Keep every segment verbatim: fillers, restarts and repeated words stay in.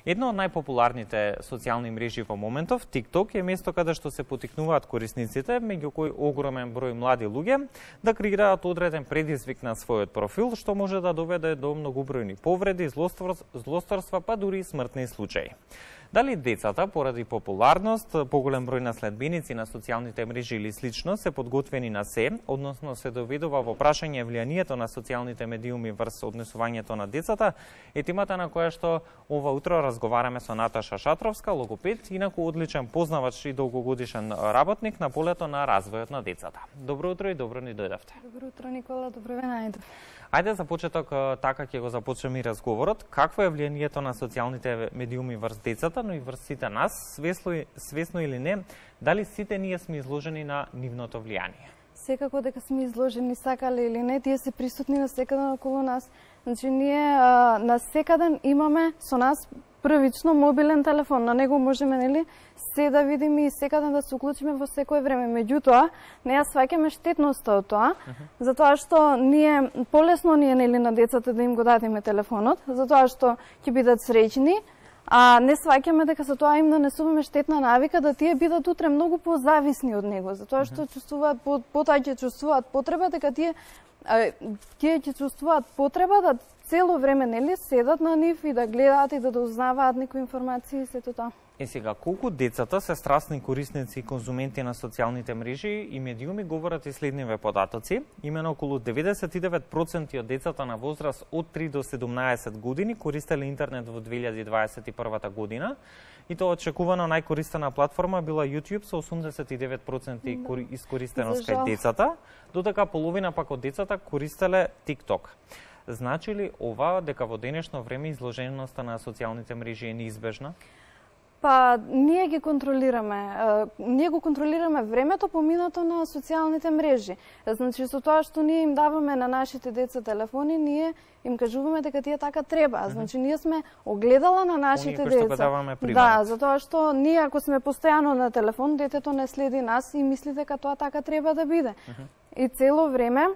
Едно од најпопуларните социјални мрежи во моментов, TikTok, е место каде што се потикнуваат корисниците, меѓу кои огромен број млади луѓе, да креираат одреден предизвик на својот профил, што може да доведе до многобројни повреди, злосторства, па дури и смртни случаи. Дали децата, поради популарност, поголем број на следбеници на социјалните мрежи или слично, се подготвени на се, односно се доведува во прашање влијанието на социјалните медиуми врз однесувањето на децата, е темата на која што ова утро разговараме со Наташа Шатровска, логопед, инаку одличен познавач и долгогодишен работник на полето на развојот на децата. Добро утро и добро ни дојдовте. Добро утро, Никола, добро ве најдов. Ајде за почеток така ќе го започнеме и разговорот. Какво е влијанието на социјалните медиуми врз децата, но и врз сите нас, свесно, свесно или не, дали сите ние сме изложени на нивното влијание? Секако дека сме изложени, сакале или не, тие се присутни на секаде околу нас. Значи, ние а, на секаден имаме со нас првично мобилен телефон, на него можеме, нели, се да видиме и секаде да се уклучиме во секое време. Меѓутоа, не ја сваќаме штетноста од тоа, uh -huh. затоа што ние полесно ние, нели, на децата да им го дадеме телефонот, затоа што ќе бидат среќни, а не сваќаме дека со тоа им нанесуваме штетна навика да тие бидат утре многу позависни од него, затоа што чувствуваат потоа ќе чувствуваат потреба дека тие а, тие ќе чувствуваат потреба да цело време, нели, седат на нив и да гледаат и да дознаваат некои информации и сето тоа. Е сега, колку децата се страстни корисници и конзументи на социјалните мрежи и медиуми говорат и следниве податоци. Имено околу деветдесет и девет проценти од децата на возраст од три до седумнаесет години користеле интернет во две илјади дваесет и прва година. И тоа очекувано најкористена платформа била YouTube со осумдесет и девет проценти да. Искористеност кај децата, додека половина пак од децата користеле TikTok. Значи ли ова дека во денешно време изложеноста на социјалните мрежи е неизбежна? Па, ние ги контролираме. Ние го контролираме времето поминато на социјалните мрежи. Значи, со тоа што ние им даваме на нашите деца телефони, ние им кажуваме дека тие така треба. Значи, ние сме огледала на нашите Они, деца. Да, затоа што ние ако сме постојано на телефон, детето не следи нас и мисли дека тоа така треба да биде. Uh -huh. И цело време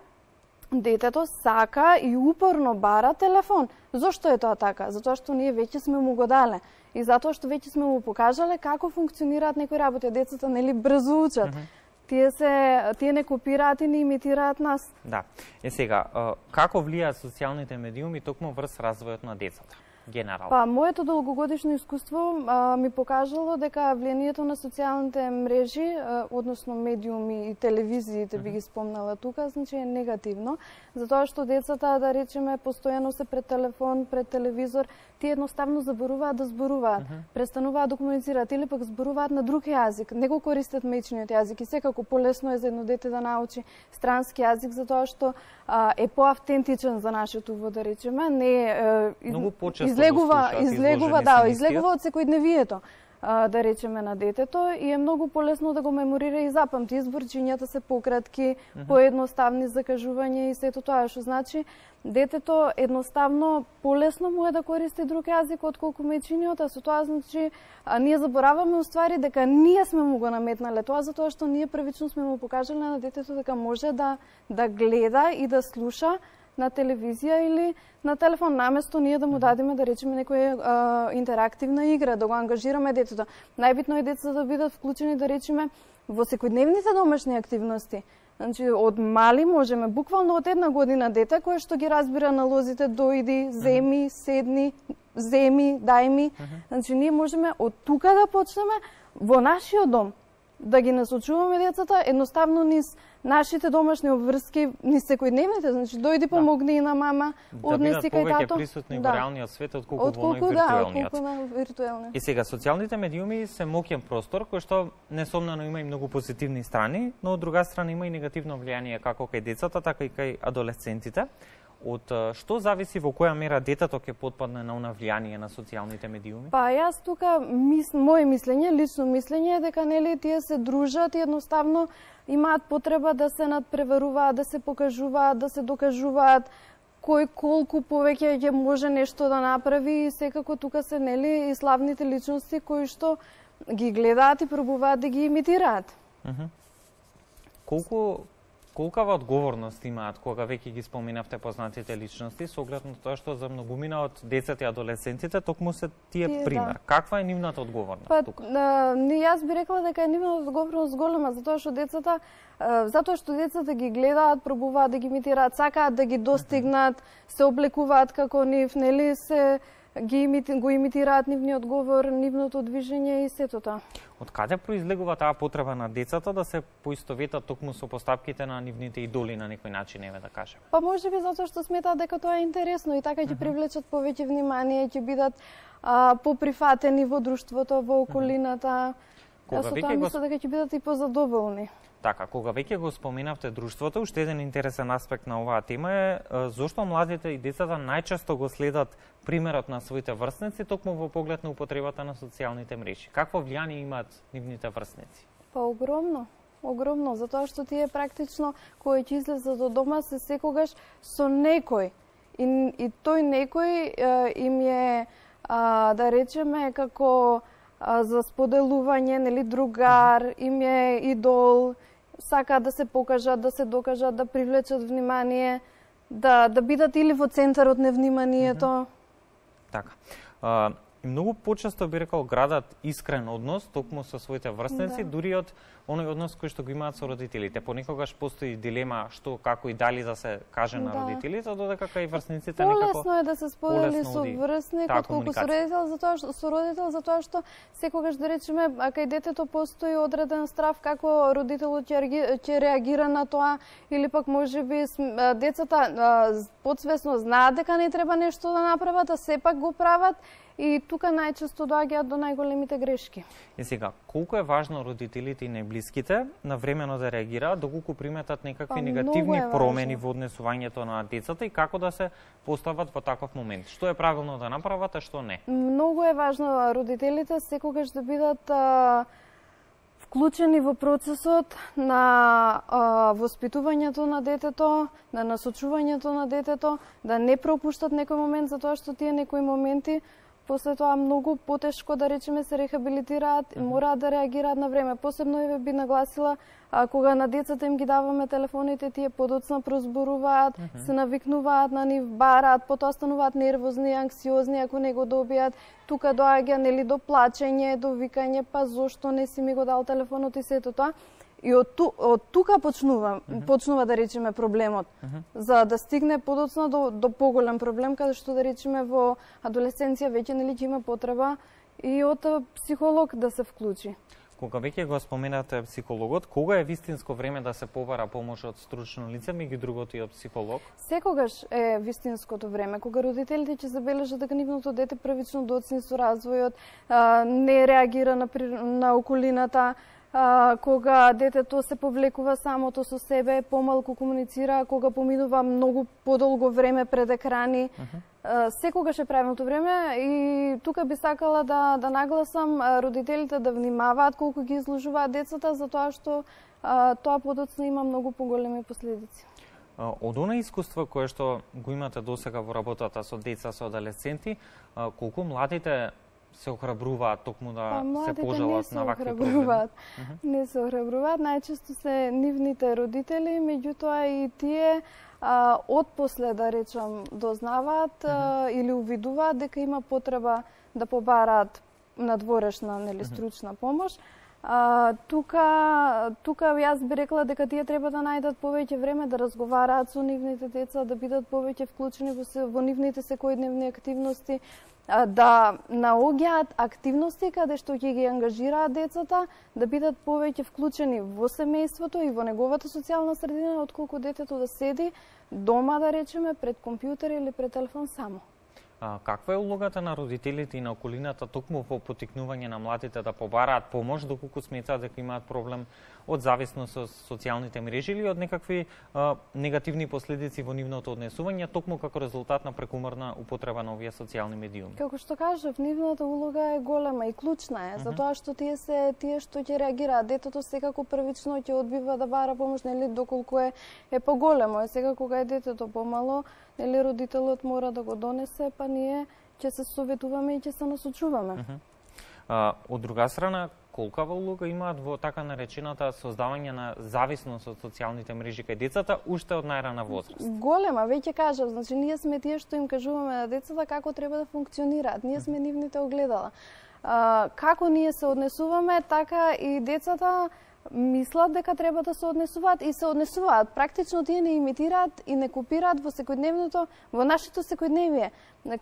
детето сака и упорно бара телефон. Зошто е тоа така? Затоа што ние веќе сме му го дале. И затоа што веќе сме му покажале како функционираат некои работи. Децата, нели, брзо учат. Uh -huh. Тие се тие не копираат и не имитираат нас. Да. Е сега, како влијаат социјалните медиуми токму врз развојот на децата? Генерално. Па, моето долгогодишно искуство а, ми покажало дека влијанието на социјалните мрежи, а, односно медиуми и телевизиите, би ги спомнала тука, значи е негативно, затоа што децата, да речеме, постојано се пред телефон, пред телевизор, тие едноставно заборуваат да зборуваат, uh -huh. престануваат да комуницираат или пак зборуваат на друг јазик, не го користат маичниот јазик и секако полесно е за едно дете да научи странски јазик затоа што а, е поавтентичен за нашето во, да речеме, не е многу почесто излегува, излегува, да, излегува од секојдневието, да речеме, на детето и е многу полесно да го меморира и запамти. Изборчињата се пократки, uh -huh. поедноставни закажувања и сето тоа, што значи детето едноставно полесно му е да користи друг јазик отколку маичниот, а со тоа значи а, ние забораваме уствари дека ние сме му го наметнале тоа затоа што ние првично сме му покажале на детето дека може да да гледа и да слуша на телевизија или на телефон, наместо ние да му дадеме, да речеме, некоја а, интерактивна игра, да го ангажираме детето. Најбитно е децата да бидат вклучени, да речеме, во секојдневните домашни активности. Значи, од мали можеме, буквално од една година дете, кое што ги разбира налозите, дојди, земи, седни, земи, дај ми. Значи, ние можеме од тука да почнеме во нашиот дом, да ги насочуваме децата едноставно низ нашите домашни обврски, низ секојдневните, значи дојди помогни на мама, однеси кај тато. Да бидат повеќе присутни во реалниот свет отколку во виртуелниот. Да, отколку на виртуелниот. И сега социјалните медиуми се моќен простор кој што несомнено има и многу позитивни страни, но од друга страна има и негативно влијание како кај децата, така и кај адолесцентите. Од што зависи во која мера детето ќе потпадне на она влијание на социјалните медиуми? Па јас тука мис, моje мислење, лично мислење е дека нели тие се дружат и едноставно имаат потреба да се надпреваруваат, да се покажуваат, да се докажуваат кој колку повеќе ќе може нешто да направи и секако тука се нели и славните личности кои што ги гледаат и пробуваат да ги имитираат. Uh -huh. Колку колкава одговорност имаат кога веќе ги споменавте познатите личности, со оглед на тоа што за многумина од децата и адолесцентите токму се тие, тие пример. Да. Каква е нивната одговорност па, тука? А, не, јас би рекла дека е нивната одговорност голема, затоа што децата затоа што децата ги гледаат, пробуваат да ги имитираат, сакаат да ги достигнат, се облекуваат како нив, нели се ги имити, го имитираат нивниот говор, нивното движење и сето тоа. Од каде произлегува таа потреба на децата да се поистоветат токму со поставките на нивните идоли на некој начин, еве да кажеме? Па можеби затоа што сметаат дека тоа е интересно и така ќе привлечат повеќе внимание, ќе бидат а, поприфатени во друштвото, во околината. Кога со тоа мислам го... дека ќе бидат и позадоволни. Така, кога веќе го споменавте друштвото, уште еден интересен аспект на оваа тема е зошто младите и децата најчесто го следат примерот на своите врсници токму во поглед на употребата на социјалните мрежи. Какво влијание имаат нивните врсници? Па огромно, огромно, затоа што тие практично кои ќе излезат од дома се секогаш со некој. И, и тој некој е, им е, а, да речеме, како а, за споделување, нели, другар, им е идол, сакаат да се покажат, да се докажат, да привлечат внимание, да, да бидат или во центарот на вниманието. Mm -hmm. Така. А, и многу почесто би рекол градат искрен однос токму со своите врсници, да. Дури од оној однос кој што го имаат со родителите. Понекогаш постои дилема што, како и дали да се каже на да. родителите, додека кај врсниците полесно некако полесно е да се сподели со врсник отколку со родител, затоа што со родител затоа што секогаш да речеме кај детето постои одреден страв како родителот ќе ќе реагира на тоа или пак можеби децата подсвесно знаат дека не треба нешто да направат, а сепак го прават. И тука најчесто доаѓаат до најголемите грешки. И сега, колку е важно родителите и најблиските навремено да реагираат доколку приметат некакви па, негативни промени во однесувањето на децата и како да се постават во таков момент? Што е правилно да направат, а што не? Многу е важно родителите секогаш да бидат а, вклучени во процесот на а, воспитувањето на детето, на насочувањето на детето, да не пропуштат некој момент затоа што тие некои моменти после тоа многу потешко, да речеме, се рехабилитираат, uh -huh. мораат да реагираат на време. Посебно еве би нагласила, а, кога на децата им ги даваме телефоните, тие подоцна прозборуваат, uh -huh. се навикнуваат на нив, бараат, потоа стануваат нервозни, анксиозни ако не го добијат. Тука доаѓа нели до плачење, до викање, па зошто не си ми го дал телефонот и сето тоа. И од, ту, од тука почнува, uh -huh. почнува да речеме проблемот, uh -huh. за да стигне подоцна до, до поголем проблем, каде што да речеме во адолесценција веќе нели ќе има потреба и од психолог да се вклучи. Кога веќе го споменате психологот, кога е вистинско време да се побара помош од стручно лице, меѓу другото и од психолог? Секогаш е вистинското време, кога родителите ќе забележат дека нивното дете првично доцни со развојот, не реагира на, на околината, А, кога детето се повлекува самото со себе, помалку комуницира, кога поминува многу подолго време пред екрани. Uh -huh. а, секогаш е правилното време и тука би сакала да, да нагласам родителите да внимаваат колку ги изложуваат децата, затоа што а, тоа подоцна има многу поголеми последици. Од она искуство кое што го имате досега во работата со деца, со адолесценти, колку младите се охрабруваат токму да па, се пожалат на вакви проблеми? Uh -huh. Не се охрабруваат, најчесто се нивните родители, меѓутоа и тие а, отпосле, да речам, дознаваат uh -huh. а, или увидуваат дека има потреба да побараат надворешна, нели, стручна помош. А, тука, тука јас би рекла дека тие треба да најдат повеќе време да разговараат со нивните деца, да бидат повеќе вклучени во, во нивните секојдневни активности, да наоѓаат активности каде што ќе ги ангажираат децата, да бидат повеќе вклучени во семејството и во неговата социјална средина, отколку детето да седи дома, да речеме, пред компјутер или пред телефон само. А, каква е улогата на родителите и на околината токму во поттикнување на младите да побараат помош доколку сметаат дека имаат проблем од зависност со социјалните мрежи или од некакви а, негативни последици во нивното однесување токму како резултат на прекумерна употреба на овие социјални медиуми? Како што кажав, нивната улога е голема и клучна е, uh -huh. затоа што тие се тие што ќе реагираат. Детето секако првично ќе одбива да бара помош, нели, доколку е е поголемо. Е сега кога е детето помало, нели, родителот мора да го донесе, па ние ќе се советуваме и ќе се насочуваме. Uh -huh. а, од друга страна, колкава улога имаат во така наречената создавање на зависност од социјалните мрежи кај децата уште од најрана возраст? Голема, веќе кажав, значи ние сме тие што им кажуваме на децата како треба да функционираат. Ние сме нивните огледала. А, како ние се однесуваме, така и децата мислат дека треба да се однесуваат и се однесуваат. Практично тие не имитираат и не копираат во секојдневното, во нашето секојдневие.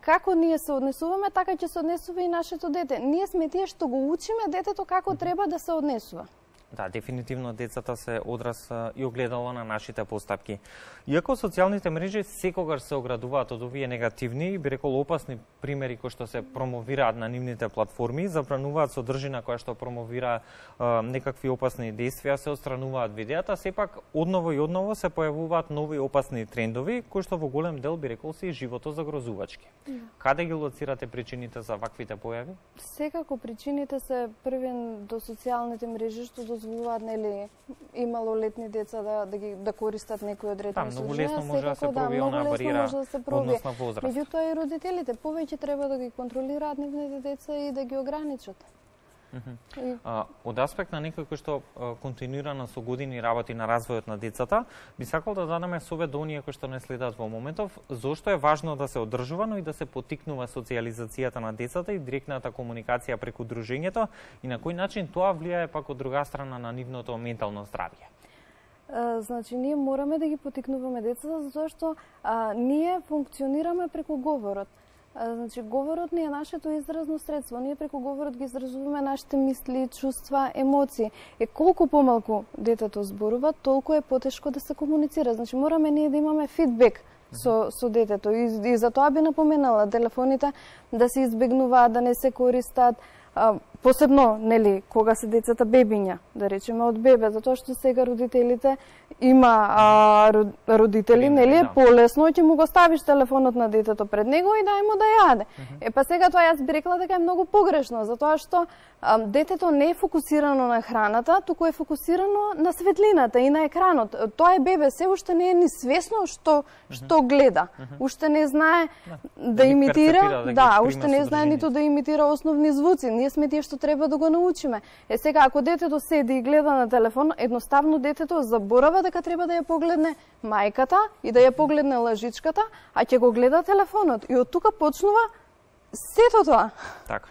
Како ние се однесуваме, така ќе се однесува и нашето дете. Ние сме тие што го учиме детето како треба да се однесува. Да, дефинитивно децата се одраз и огледало на нашите постапки. Иако социјалните мрежи секогаш се оградуваат од овие негативни и би рекол опасни примери кои што се промовираат на нивните платформи, забрануваат содржина која што промовира е, некакви опасни действија, се отстрануваат видеата, сепак одново и одново се појавуваат нови опасни трендови кои што во голем дел би рекол се и животозагрозувачки. Yeah. Каде ги лоцирате причините за ваквите појави? Секако причините се првен до социјалните мрежи што дозволуваат нели и малолетни деца да да ги да користат некои одредени содржина. Многу лесно може да се пробие онаа бариера односна возраст. Меѓутоа и родителите повеќе треба да ги контролираат нивните деца и да ги ограничат. Uh-huh. И... А, од аспект на некој кој што а, континуирано со години работи на развојот на децата, би сакал да дадеме совет до оние кои што не следат во моментов, зошто е важно да се одржувано и да се поттикнува социјализацијата на децата и директната комуникација преку дружењето и на кој начин тоа влијае пак од друга страна на нивното ментално здравје. Uh, значи, ние мораме да ги поттикнуваме децата затоа што uh, ние функционираме преку говорот. Значи, говорот не е нашето изразно средство. Ние преку говорот ги изразуваме нашите мисли, чувства, емоции. Е колку помалку детето зборува, толку е потешко да се комуницира. Значи, мораме ние да имаме фидбек со, со детето. И, и за тоа би напоменала телефоните да се избегнуваат, да не се користат. А, посебно, нели, кога се децата бебиња, да речеме од бебе, затоа што сега родителите има а, родители, нели, е полесно ќе му го ставиш телефонот на детето пред него и дај му да јаде. Uh-huh. Е па сега тоа јас би рекла дека е многу погрешно, затоа што а, детето не е фокусирано на храната, туку е фокусирано на светлината и на екранот. Тоа е бебе, се уште не е ни свесно што што гледа. Uh-huh. Уште не знае да, да имитира, да, да уште не знае ниту да имитира основни звуци. Ние сме тие што треба да го научиме. Е сега, ако детето седи и гледа на телефон, едноставно детето заборава дека треба да ја погледне мајката и да ја погледне лажичката, а ќе го гледа телефонот. И од тука почнува сето тоа. Така.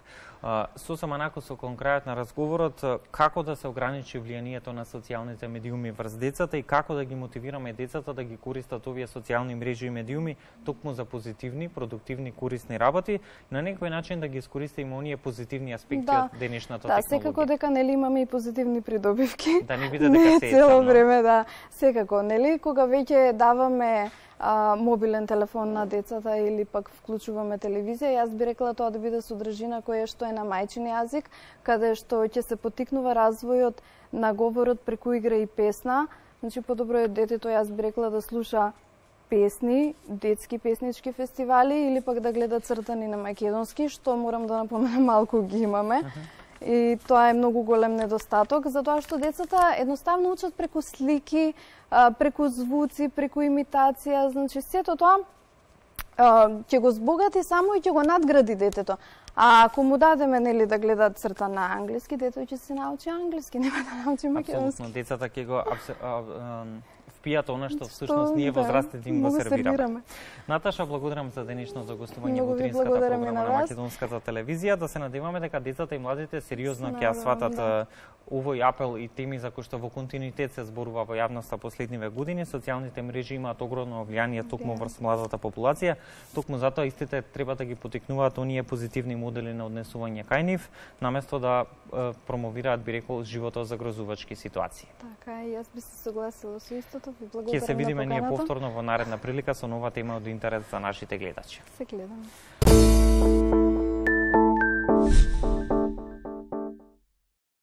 Сосема накусо кон крајот на разговорот, како да се ограничи влијанието на социјалните медиуми врз децата и како да ги мотивираме децата да ги користат овие социјални мрежи и медиуми токму за позитивни, продуктивни, корисни работи, на некој начин да ги искористиме оние позитивни аспекти да, од денешната да, технологија. Да, секако дека нели имаме и позитивни придобивки. Да не биде дека се е цело време, да. Секако, нели кога веќе даваме а, мобилен телефон на децата или пак вклучуваме телевизија, јас би рекла тоа да биде содржина која што е на мајчин јазик, каде што ќе се поттикнува развојот на говорот преку игра и песна. Значи подобро е детето, јас би рекла, да слуша песни, детски песнички фестивали или пак да гледа цртани на македонски, што морам да напоменам малку ги имаме. Uh-huh. И тоа е многу голем недостаток, затоа што децата едноставно учат преку слики, преку звуци, преку имитација, значи сето тоа ќе го збогати само и ќе го надгради детето. А ако му дадеме нели да гледа црта на англиски, детето ќе се научи англиски, нема да научи македонски. Апсолутно, децата ќе го впијат она што всушност ние возрастните им го сервираме. Наташа, благодарам за денешното гостување во утринската програма на Македонската телевизија. Да се надеваме дека децата и младите сериозно ќе ја сватат да. овој апел и теми за кои што во континуитет се зборува во јавноста последниве години. Социјалните мрежи имаат огромно влијание токму врз младата популација. Токму затоа истите треба да ги поттикнуваат оние позитивни модели на однесување кај нив, наместо да е, промовираат, би рекол, животозагрозувачки ситуации. Така, и јас би се согласила со истото. Ќе се видиме ние повторно во наредна прилика со нова тема од интерес за нашите гледачи. Се гледаме.